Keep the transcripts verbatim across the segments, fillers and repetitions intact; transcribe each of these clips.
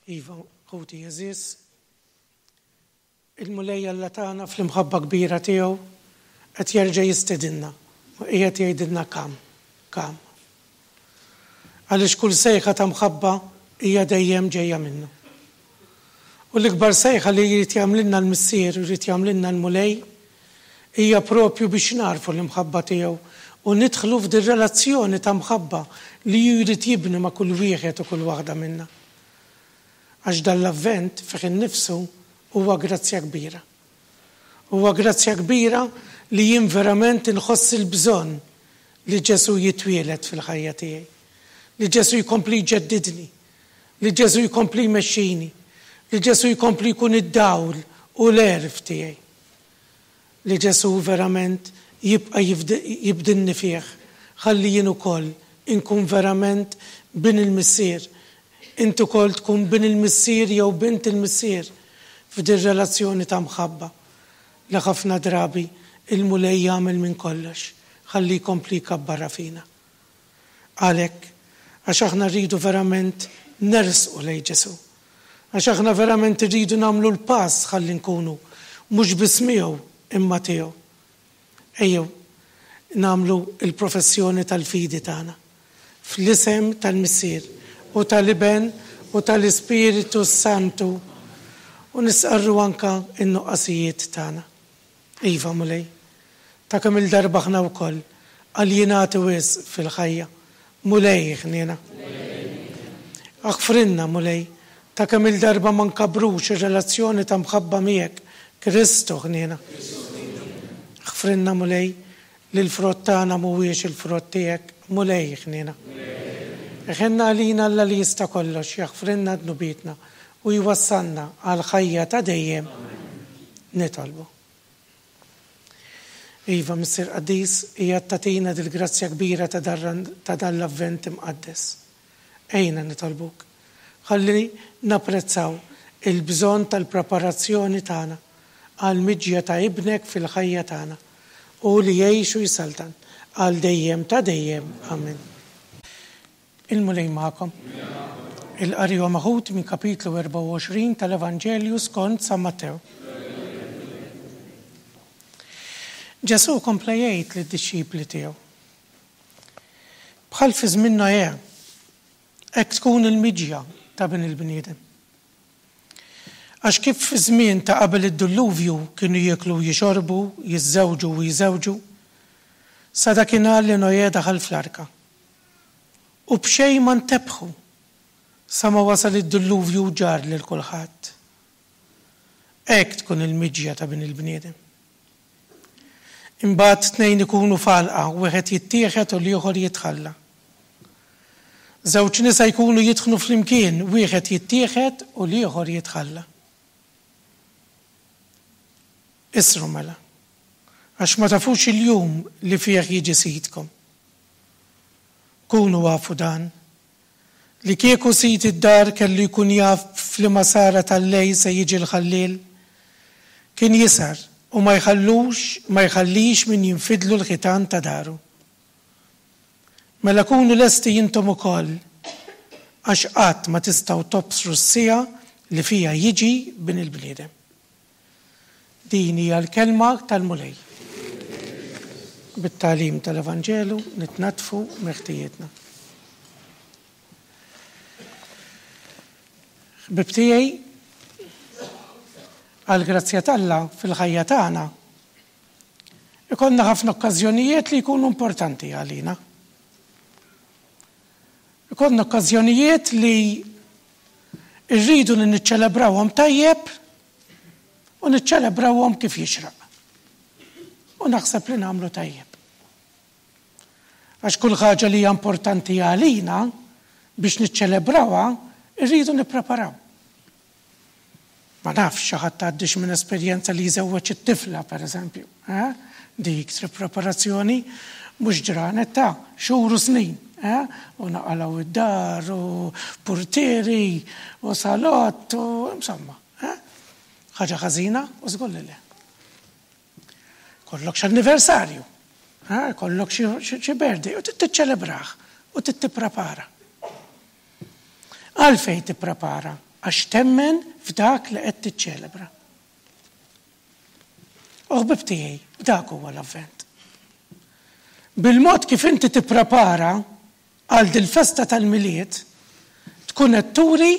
Iva, ħuti għeżież, il-Mulej Alla tagħna fl-imħabba kbira tiegħu qed jerġa' jistedinna u qiegħed jgħidilna come, come. Għaliex kull sejħa ta' mħabba hija dejjem ġejja minnu. U l-ikbar sejħa li jrid jagħmlilna l-Missier u jrid jagħmlilna l-Mulej hija propju biex narfu l-imħabba tiegħu u nidħlu f'din relazzjoni ta' mħabba li jrid jibni ma' kull wieħed u kull waħda minna. Għax dan l-avvent fih innifsu huwa grazzja kbira. Huwa grazzja kbira li jien verament inħoss il-bżonn li Ġesu jitwieled fil-ħajja tiegħi. Li Ġesu jkompli jġeddidni, li Ġesu jkompli jmexxini, li Ġesu jkompli jkun id-dawl u l-għerf tiegħi. Li Ġesu verament jibqa' jibdilni fih, ħalli jien ukoll inkun verament bin il-Missier. Inti ukoll tkun bin il-Missier jew bint il-Missier f'din relazzjoni ta' mħabba li ħafna drabi il-Mulej jagħmel minn kollox ħalli jkompli jkabbarha fina. Għalhekk, għax aħna rridu verament nersqu lejn Ġesu. Għax aħna verament rridu nagħmlu l-pass ħalli nkunu mhux biss miegħu imma tiegħu. Ejjew nagħmlu il-professjoni tal-fidi tagħna. Fl-isem tal-Missier u tal-Iben u tal-Ispiritu Santu u nistqarru anka in-nuqqasijiet tagħna. Iva Mulej, ta' kemm il-darba aħna wkoll aljenati wisq fil-ħajja. Mulej ħniena. Aħfrilna Mulej, ta' kemm il-darba ma nkabrux ir-relazzjoni ta' mħabba miegħek, Kristu ħniena. Aħfrilna Mulej li l-frott tagħna mhuwiex il-frott tiegħek, Mulej ħniena. Iħenn għalina Alla li jista' kollox, jaħfrilna dnubietna u jwassalna għal ħajja ta' dejjem. Nitolbu. Iva, Missier Qaddis, hija tagħtina dil-grazzja kbira ta' dan l-avvent imqaddes. Ejna nitolbuk. Ħalli napprezzaw il-bżonn tal-preparazzjoni tagħna għal miġja ta' ibnek fil-ħajja tagħna u li jgħix u jsaltan għal dejjem ta' dejjem. Amen. Il-Mulej magħkom. Il-qari huwa meħud minn kapitlu erbgħa u għoxrin tal-Evanġelju skont San Mattew. Ġesu kompla jgħid lid-dixxipli tiegħu. Bħal fi żmien Noè, hekk tkun il-miġja ta' bin il-bniedem. Għax kif fi żmien ta' qabel id-dulluvju kienu jieklu u jixorbu, jiżżewġu u jżewġu, sa dakinhar li Noè daħal fl-arka. U b'xejn ma ntebħu sa ma wasal id-dulluvju u ġar lil kulħadd. Hekk tkun il-miġja ta' bin il-bniedem. Imbagħad tnejn ikunu f'għalqa, wieħed jittieħed u l-ieħor jitħalla. Żewġ nisa jkunu jitħnu flimkien, wieħed jittieħed u l-ieħor jitħalla. Isru mela, għax ma tafux il-jum li fih jiġi sidkom. Kunu għafu dan, li kieku sid id-dar kellu jkun jaf f'liema sara tal-lejl se jiġi l-ħalliel, kien jisar u ma jħallux, ma jħallix min jinfidlu l-ħitan ta' daru. Mela kunu lesti intom ukoll, għax qatt ma tistgħu tobsru s-siegħa li fiha jiġi bin il-bniedem. Din hija l-kelma tal-Mulej. Bit-tagħlim tal-Evanġelu nitnatfu meħtijietna. Ħbib tiegħi, għall-grazzja t'Alla fil-ħajja tagħna ikollna ħafna okkażjonijiet li jkunu importanti għalina. Ikollna okkażjonijiet li rridu li niċċelebrawhom tajjeb u niċċelebrawhom kif jixraq. U naħseb li nagħmlu tajjeb. Għax kull ħaġa li hija importanti għalina biex niċċelebrawha rridu nippreparaw. Ma nafx xi ħadd għaddix minn esperjenza li jżewweġ it-tifla, pereżempju. Eh? Dik tri preparazzjoni mhux ġranet ta' xhur u snin. Eh? U naqalgħu id-dar u purtieri u salott u insomma. Eh? Ħaġa ħażina u żgur li le. Kollok x'anniversarju, eh? Kollok xi birthday u tiċċelebrah u titprepara. Għalfejn tipprepara Għax temmen f'dak li qed tiċċelebra. U ħbib tiegħi, dak huwa l-Avvent. Bil-mod kif inti tipprepara għal dil-festa tal-Milied, tkun qed turi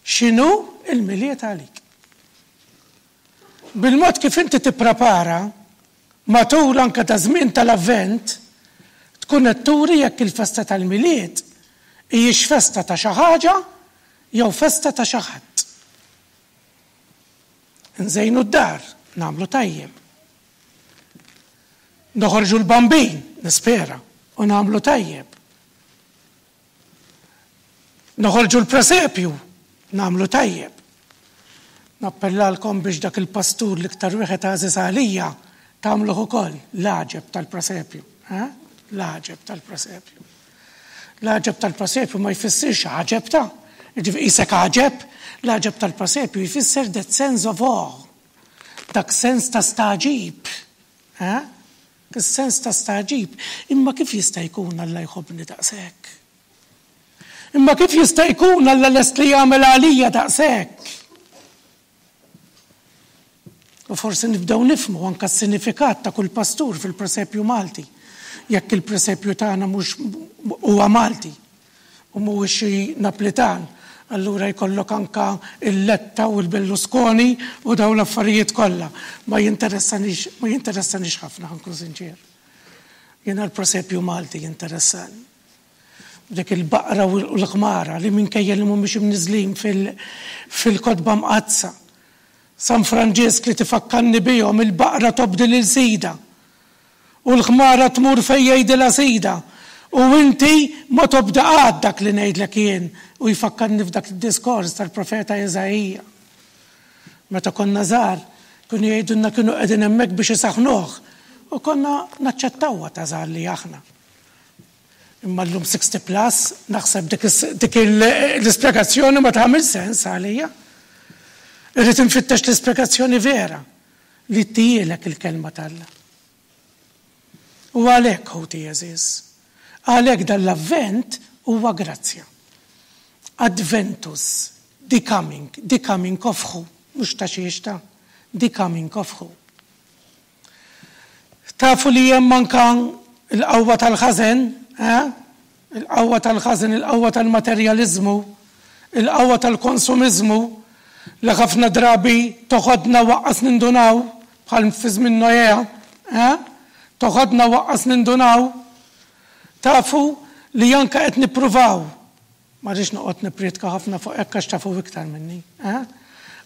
x'inhu il-Milied għalik. Bil-mod kif inti tipprepara matul anke ta' żmien tal-Avvent, tkun qed turi jekk il-festa tal-Milied hijiex festa ta' xi ħaġa jew festa ta' xi ħadd. Nżejnu d-dar, nagħmlu tajjeb. Noħorġu l-Bambin, nispera, u nagħmlu tajjeb. Noħorġu l-presepju, nagħmlu tajjeb. Nappellalkom biex dak il-pastur l-iktar wieħed għażiż għalija tagħmluh ukoll l-għaġeb tal-presepju. L-għaġeb tal-presepju. L-għaġeb tal-presepju ma jfissirx għaġeb ta' ġifieri qisek għaġeb, l-għaġeb tal-presepju jfisser that sense of awe. Dak sens ta' stagħġib. Is-sens ta' stagħġib. Imma kif jista' jkun Alla jħobbni daqshekk? Imma kif jista' jkun Alla lest li jagħmel għalija daqshekk? U forsi nibdew nifhmu anke s-sinifikat ta' kull pastur fil-presepju Malti. Jekk il-presepju tagħna mhux huwa Malti u mhuwiex xi Naplitan, allura jkollok anka il-Letta u l-Berlusconi u daw l-affarijiet kollha. Ma jinteressanix, ma jinteressanix ħafna, ħa nkun sinċier. Jiena l-presepju Malti jinteressani. Dik il-baqra u l-ħmara li minkejja li mhumiex imniżlin fil-kotba mqaddsa. San Franġisk li tifakkarni bihom, il-baqra tobdi lil sida. U l-ħmara tmur fejn jgħidilha sida. U inti ma tobda qatt dak li ngħidlek jien, u jfakkarni f'dak id-diskors tal-profeta Iżaija. Meta konna żgħar, kienu jgħidulna kienu qegħdin hemmhekk biex isaħnuh. U konna naċċettawha ta' żgħar li aħna. Imma llum sixty plus, naħseb dik l-ispjegazzjoni ma tagħmel sens għalija. Irrid infittex l-ispjegazzjoni vera li ttihielek il-kelma t'Alla. U għalhekk, ħuti għeżież, għalhekk dal-Avvent huwa grazzja. Adventus, the coming, the coming of who, mhux ta' xiex ta', the coming of who. Tafu li hemm anka l-qawwa tal-ħażen, eh? Il-qawwa tal-ħażen, il-qawwa tal-materjalizmu, il-qawwa tal-konsumizmu, li ħafna drabi toħodna waqqas nindunaw, bħal fi żmien Noè, eh? Toħodna waqqas nindunaw. Tafu li anka qed nippruvaw. Ma rridx noqgħod nippriedka ħafna fuq hekk għax tafu iktar minni, eh?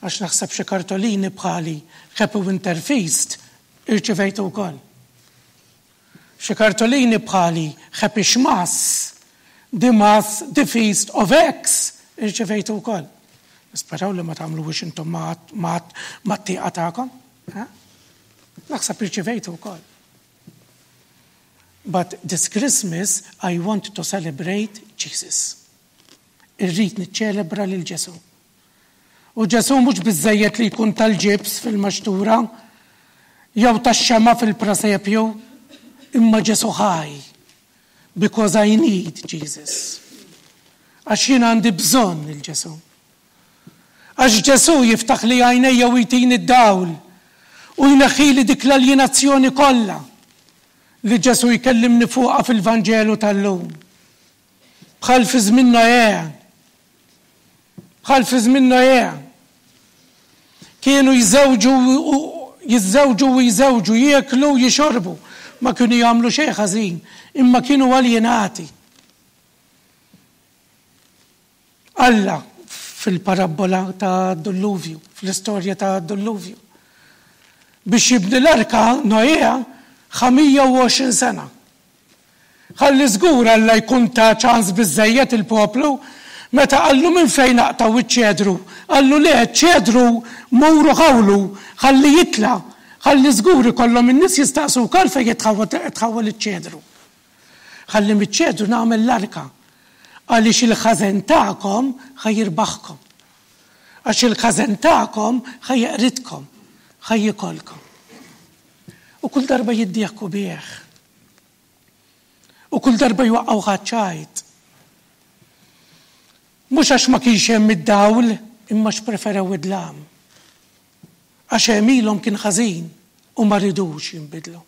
Għax naħseb xi kartolini bħali Happy Winter Feast irċivejtu wkoll. Xi kartolini bħali Happy Xmas, the Mass, the Feast of X irċivejtu wkoll. Nisperaw li ma tagħmluhiex intom ma' tieqa tagħkom. Eh? Naħseb irċivejtu wkoll. But this Christmas I want to celebrate Jesus. Irrid niċċelebra lil Ġesu. U Ġesu mhux biżejjed li jkun tal-ġibs fil-maxtura jew tax-xema fil-presepju, imma Ġesu ħaj. Because I need Jesus. Għax jien għandi bżonn il-Ġesu. Għax Ġesu jiftaħ li għajnejja u jtini d-dawl u jneħħili dik l-aljenazzjoni kollha li Ġesu jkellimni fuqha fil-Vanġelu tal-lum. Bħal fi żmien Noè. Bħal fi żmien Noè. Kienu jżewġu jiżżewġu u jżewġu, jieklu u jixorbu. Ma kienu jagħmlu xejn ħażin, imma kienu aljenati. Alla fil-parabbola ta' Dulluvju, fl-istorja ta' Dulluvju. Biex jibni l-arka Noè ħa mija u għoxrin sena. Ħalli żgur Alla jkun ta' ċans biżejjed il-poplu, meta qallu minn fejn naqtaw iċ-ċedru, qallu le, ċedru muru ħawlu, ħalli jitla, ħalli żgur ikollhom in-nies jistaqsu wkoll fejn jitħawwel iċ-ċedru. Ħalli miċ-ċedru nagħmel l-arka, għaliex il-ħażen tagħkom ħajirbaħkom. Għax il-ħażen tagħkom ħajeqridkom, ħajjikolkom. U kull darba jiddieħku bih. U kull darba jwaqqgħu ħaċċajt. Mhux għax ma kienx hemm id-dawl, imma x'preferew id-dlam. Għax għemilhom kien ħażin u ma ridux jinbidlu.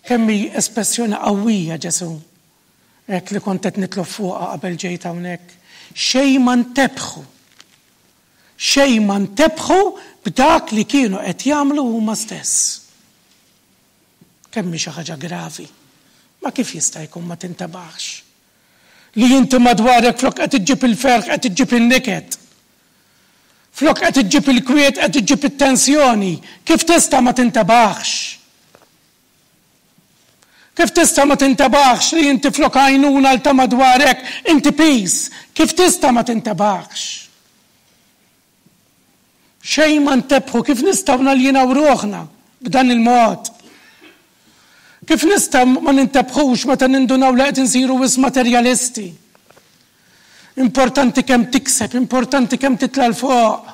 Kemm hi espressjoni qawwija Ġesù, hekk li kont qed nitlob fuqha qabel ġejt hawnhekk. Xejn ma ntebħu. Xejn ma ntebħu b'dak li kienu qed jagħmlu huma stess. Kemm hi xi ħaġa gravi. Ma kif jista' jkun ma tintebaħx? Li inti madwarek flok qed iġġib il-ferħ qed iġġib in-niket. Flok qed iġġib il-kwiet qed iġġib it-tensjoni. Kif tista' ma tintebaħx? Kif tista' ma tintebaħx li inti flok għajnuna l ta' madwarek inti piż? Kif tista' ma tintebaħx? Xejn ma ntebħu, kif nistgħu naljinaw ruħna b'dan il-mod? Kif nistgħu ma nintebħux meta nindunaw li qed insiru wisq materjalisti? Importanti kemm tikseb, importanti kemm titla' 'l fuq.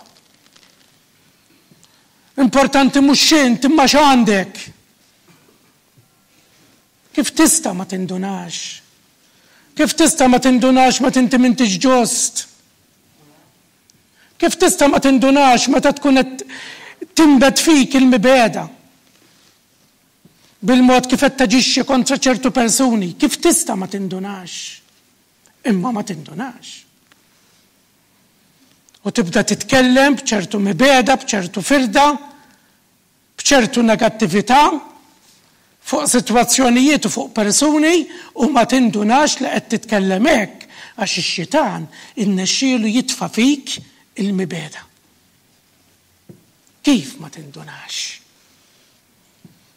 Importanti mhux x'int imma x'għandek. Kif tista' ma tindunax? Kif tista' ma tindunax meta inti m'intix ġust? Kif tista' ma tindunax meta tkun qed tinbet fik il-mibegħda? Bil-mod kif qed taġixxi kontra ċertu persuni, kif tista' ma tindunax? Imma ma tindunax. U tibda titkellem b'ċertu mibegħda, b'ċertu firda, b'ċertu negattività fuq sitwazzjonijiet u fuq persuni u ma tindunax li qed titkellem hekk għax ix-xitan innexxielu jitfa' fik il-mibegħda. Kif ma tindunax?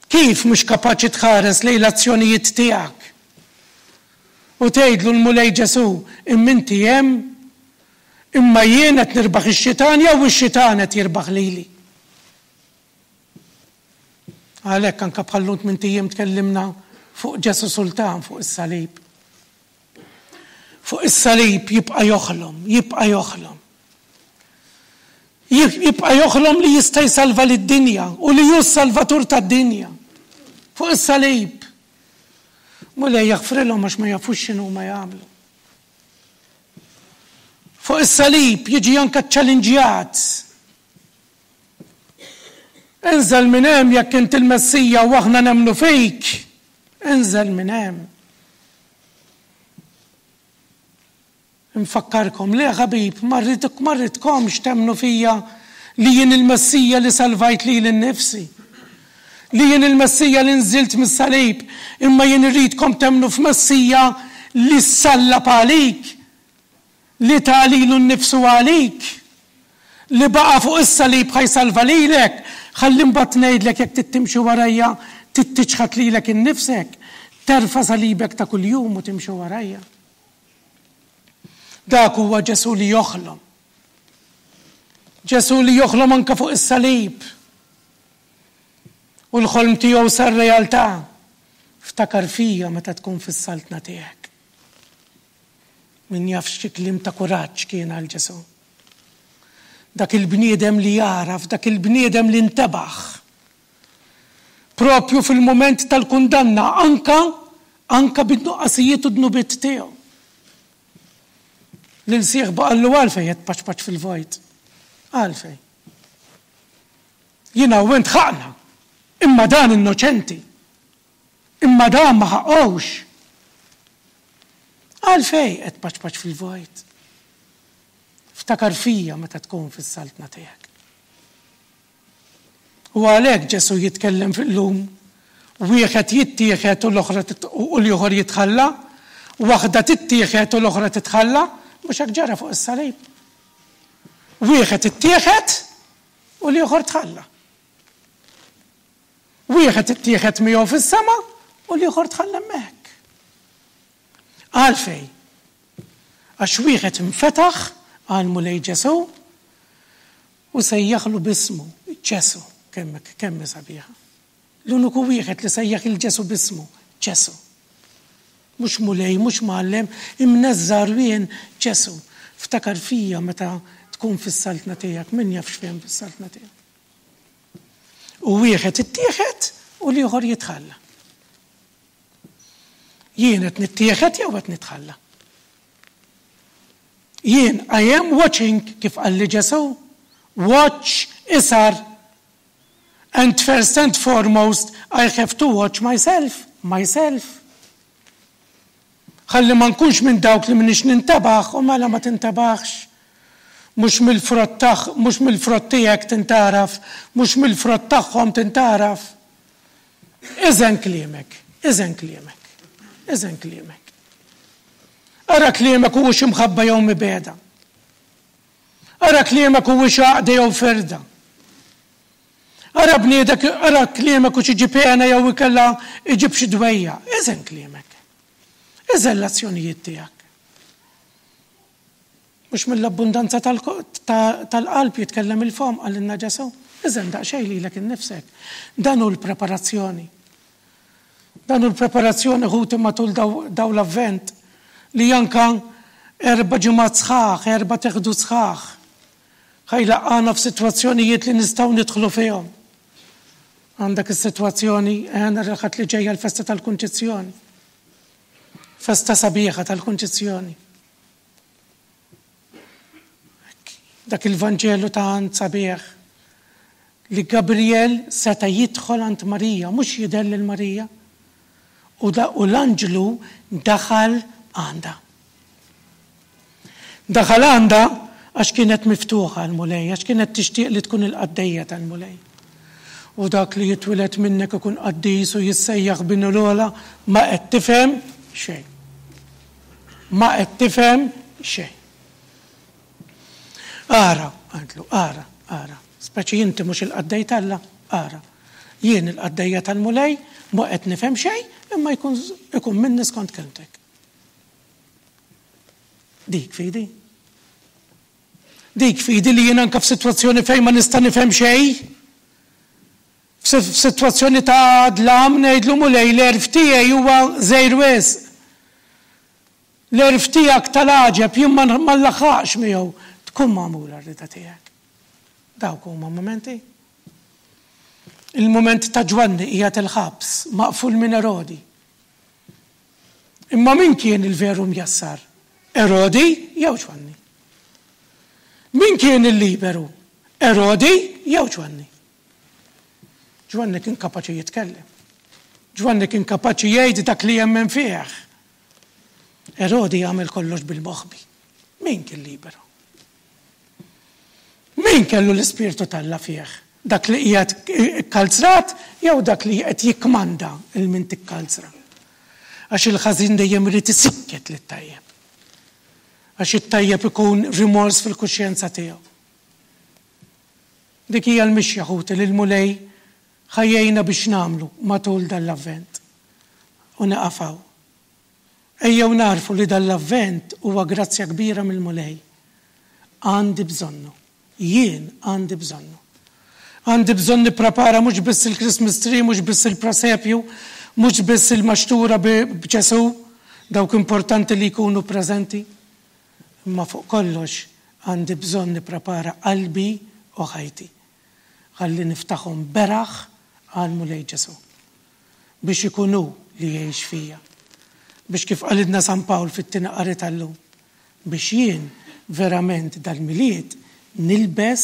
Kif mhux kapaċi tħares lejn l-azzjonijiet tiegħek? U tgħidlu l-Mulej Ġesù, imma inti hemm, imma jien qed nirbaħ ix-xitan jew ix-xitan qed jirbaħ lili. Għalhekk anke bħal-lum tmint ijiem tkellimna fuq Ġesù Sultan fuq is-salib. Fuq is-salib jibqa' joħlom, jibqa' joħlom. Jibqa' joħlom li jista' jsalva lid-dinja u li hu s-salvatur tad-dinja. Fuq is-salib. Mulej jaħfrilhom għax ma jafux x'inhu ma jagħmlu. Fuq is-salib jiġi anke ċċallinġjat. Inżel minn hemm jekk int il-Messija u aħna nemmnu fik. Inżel minn hemm. Infakkarkom, le ħabib, ma rridkomx temmnu fija li jien il-Messija li salvajt lili nnifsi. Li jien il-Messija li nżilt mis-salib, imma jien irridkom temmnu f'Messija li ssallab għalik, li ta lilu nnifsu għalik, li baqa' fuq is-salib ħa jsalva lilek, ħalli mbagħad ngħidlek jekk trid timxi warajja, trid tiċħad lilek innifsek, terfa' salibek ta' kuljum u timxi warajja. Dak huwa Ġesù li joħlom. Ġesù li joħlom anke fuq is-salib. U l-ħolm tiegħu sar realtà. Ftakar fija meta tkun fis-saltna tiegħek. Min jaf xi kliem ta' kuraġġ kien għal Ġesù. Dak il-bniedem li jagħraf, dak il-bniedem li ntebaħ. Propju fil-mument tal-kundanna, anka, anka bid-nuqqasijiet u dnubiet tiegħu. Lil sieħbu qallu għalfejn qed tpaċpaċ fil-vojt. Għalfejn. Jiena u int ħaqna, imma dan innoċenti. Imma dan ma ħaqqux. Għalfejn qed tpaċpaċ fil-vojt. Ftakar fija meta tkun fis-saltna tiegħek. U għalhekk Ġesù jitkellem fil-lum, wieħed jittieħed u l-oħra u l-ieħor jitħalla, waħda tittieħed u l-oħra titħalla, mhux hekk ġara fuq is-salib. Wieħed ittieħed u l-ieħor tħalla. Wieħed ittieħed miegħu fis-sema u l-ieħor tħalla hemmhekk. Għalfejn? Għax wieħed infetaħ għal Mulej Ġesù u sejjaħlu b'ismu, Ġesù, kemm kemm sabiħa. L-uniku wieħed li sejjaħ il Ġesù b'ismu, Ġesù. Mhux Mulej, mhux Mgħallem, imneżża' rwien Ġesù. Ftakar fija meta tkun fis-saltna tiegħek, min jaf x'fehem fis-saltna tiegħek. U wieħed ittieħed u l-ieħor jitħalla. Jien qed nittieħed jew qed nitħalla? Jien, I am watching, kif qalli Ġesù, watch isar. And first and foremost, I have to watch myself, myself. Ħalli ma nkunx minn dawk li m'iniex nintebaħ, u mela ma tintebaħx. Mhux mill-frott taħ, mhux mill-frott tiegħek tintaraf, mhux mill-frott tagħhom tintaraf. Iżen kliemek, iżen kliemek, iżen kliemek. Ara kliemek huwiex imħabba jew mibegħda. Ara kliemek huwiex għaqda jew ferda. Ara bniedek, ara kliemek hux iġib hena jew ikella iġib xi dwejja. Iżen kliemek. Iżen l-azzjonijiet tiegħek. Mhux mill-abbundanza tal-qalb jitkellem il-fom, qalilna Ġesù. Iżen daqsxejn lilek innifsek. Dan hu l-preparazzjoni. Dan hu l-preparazzjoni, ħuti, matul daw l-avvent li anka erba' ġimgħat sħaħ, erba' teħdu sħaħ. Ħa jlaqqagħna f'sitwazzjonijiet li nistgħu nidħlu fihom. Għandek is-sitwazzjoni, nhar il-Ħadd li ġejja l-festa tal-Kunċizzjoni. Festa sabiħa tal-Kunċizzjoni. Dak il-Vanġelu ta' għand sabiħ li Gabriel seta' jidħol għand Marija, mhux jidher lil Marija. U l-anġlu daħal għandha. Daħal għandha għax kienet miftuħa l-Mulej, għax kienet tixtieq li tkun il-qaddejja tal-Mulej. U dak li jitwieled minnek ikun qaddis u jissejjaħ bin l-ogħla, ma qed tifhem xejn. Ma qed tifhem xejn. Ara, għandlu, ara, ara. Speċi inti mhux il-qaddej t'Alla, ara. Jien il-qaddejja tal-Mulej, ma qed nifhem xejn, imma jkun ikun minni skont kelmtek. Dik fidi. Dik fidi li jien anka f'sitwazzjoni fejn ma nista' nifhem xejn. F'sitwazzjoni ta' dlam ngħidlu Mulej l-għerf tiegħi huwa żgħir wisq. L-għerf tiegħek tal-għaġeb jien ma nlaħħaqx miegħu. Tkun magħmula r-rida tiegħek. Dawk huma momenti. Il-moment ta' Ġwanni qiegħed il-ħabs, maqful minn Erodi. Imma min kien il-veru mjassar? Erodi jew Ġwanni? Min kien il-liberu? Erodi jew Ġwanni? Ġwanni kien kapaċi jitkellem. Ġwanni kien kapaċi jgħid dak li jemmen fih. Erodi jagħmel kollox bil-moħbi. Min kien liberu? Min kellu l-ispirtu t'Alla fih? Dak li qiegħed ikkalzrat jew dak li qed jikkmanda il min tikkalzra? Għax il-ħażin dejjem irid isikket lit-tajjeb. Għax it-tajjeb ikun rimors fil-kuxjenza tiegħu. Dik hija l-mixja, ħuti, li l-Mulej ħajjejna biex nagħmlu matul dal-avvent. U nieqafaw. Ejjew narfu li dal-avvent huwa grazzja kbira mill-Mulej. Għandi bżonnu. Jien għandi bżonnu. Għandi bżonn nipprepara mhux biss il-Christmas tree, mhux biss il-presepju, mhux biss il-maxtura b'Ġesù, dawk importanti li jkunu preżenti. Imma fuq kollox għandi bżonn nipprepara qalbi u ħajti. Ħalli niftaħhom beraħ għal Mulej Ġesù. Biex ikun hu li jgħix fija. Biex kif qalidna San Pawl fit-tieni qari tal-lum. Biex jien verament dal-Milied nilbes,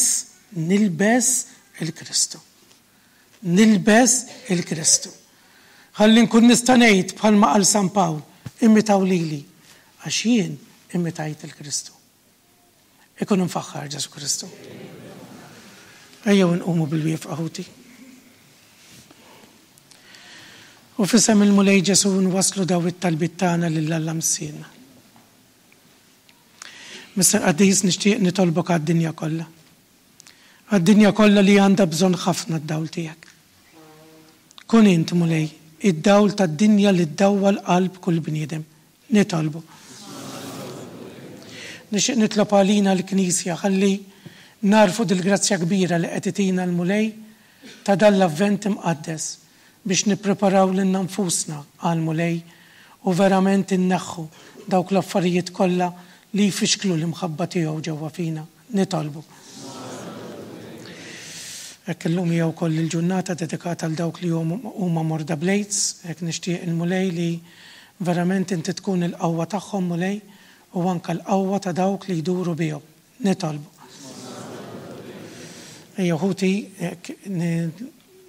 nilbes il-Kristu. Nilbes il-Kristu. Ħalli nkun nista' ngħid bħalma qal San Pawl, imitaw lili, għax jien imitajt il-Kristu. Ikun mfaħħar Ġesù Kristu. Ejjew nqumu bil-wieqfa, ħuti. U f'isem il-Mulej Ġesù nwaslu daw it-talbiet tagħna lil Alla Missierna. Mister Qaddis, nixtieq nitolbok għad-dinja kollha. Għad-dinja kollha li għandha bżonn ħafna d-dawl tiegħek. Kun int, Mulej, id-dawl tad-dinja li ddawwal qalb kull bniedem. Nitolbu. Nixtieq nitlob għalina l-Knisja ħalli narfu dil-grazzja kbira li qed itina l-Mulej ta' dan l-avvent imqaddes biex nippreparaw lilna nfusna għall-Mulej u verament inneħħu dawk l-affarijiet kollha li jfixklu l-imħabba tiegħu ġewwa fina. Nitolbu. Hekk illum hija wkoll il-ġurnata dedikata għal dawk li huma morda bl-AIDS, hekk nixtieq il-Mulej li verament inti tkun il-qawwa tagħhom, Mulej, u anke l-qawwa ta' dawk li jduru bihom. Nitolbu. Ejja ħuti,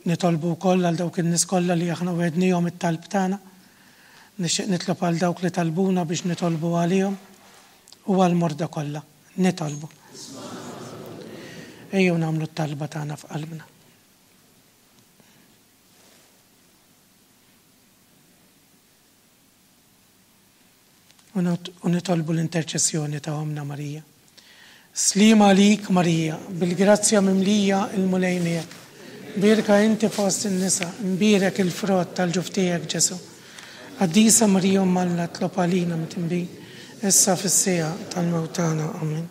nitolbu wkoll għal dawk in-nies kollha li aħna wegħednihom it-talb tagħna. Nixtieq nitlob għal dawk li talbuna biex nitolbu għalihom u għall-morda kollha. Nitolbu. Ejjew nagħmlu t-talba tagħna f'qalbna. U nitolbu l-interċessjoni ta' Ommna Marija. Sliem għalik Marija, bil-grazzja mimlija, il-Mulej miegħek. Mbierka inti fost in-nisa, mbierek il-frott tal-ġuf tiegħek Ġesù. Qaddisa Marija Omm Alla, itlob għalina midinbin, issa fis-siegħa tal-mewt tagħna. Amen.